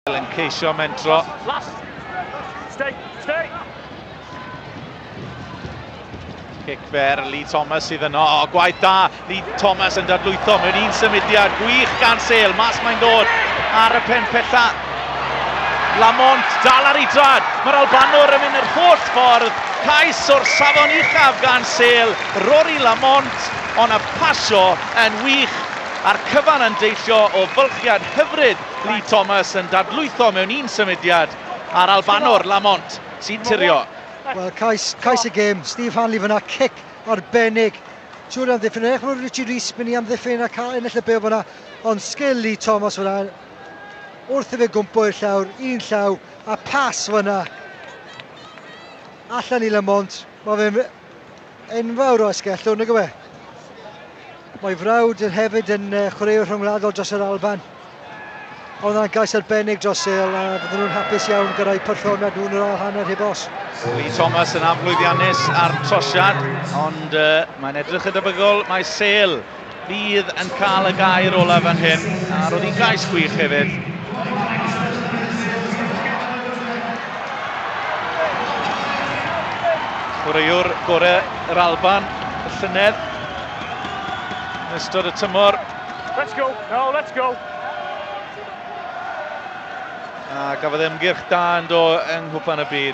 Yn ceisio mentro. Last. Stay, stay. Cic fer, Lee Thomas sydd yno. O, gwaith da, Lee Thomas yn dadlwytho mewn un symudiad gwych gan Sale. Mas mae'n dod ar y pen pella. Lamont dal ar ei drad. Mae'r Albanwr yn mynd yr holl ffordd. Cais o'r safon uchaf gan Sale. Rory Lamont, ond y pasio yn wych. A'r cyfan yn deillio o fylchiad hyfryd Lee Thomas yn dadlwytho mewn un symudiad a'r Albanwr Lamont sy'n tirio. Wel, cais y gêm. Steve Hanley fyna, cic arbennig. Siŵr amddiffyn, edrych bod Richie Rees mynd i amddiffyn a cael ennill y bêl fyna, ond sgil Lee Thomas fyna, wrth i fe gwmpo i'r llawr, un llaw, a pas fyna. Allan i Lamont, mae fe'n enfawr o asgellwr, nag yw e? Mae frawd yn hefyd yn chwaraewr rhyngwladol dros yr Alban. Ond yna'n gais arbennig dros Sale, a fydden nhw'n hapus iawn gyda'i perfformiad nhw'n yr ail hanner heb os. Lee Thomas yn aflwyddiannus ar trosiad, ond mae'n edrych yn debygol mae Sale fydd yn cael y gair olaf fan hyn, a roedd hi'n gais gwych hefyd. Chwaraewr gorau yr Alban y llynedd yn ystod y tymor. Let's go, no, let's go. A gafodd ymgyrch da yn do yng Nghwpan y Byd.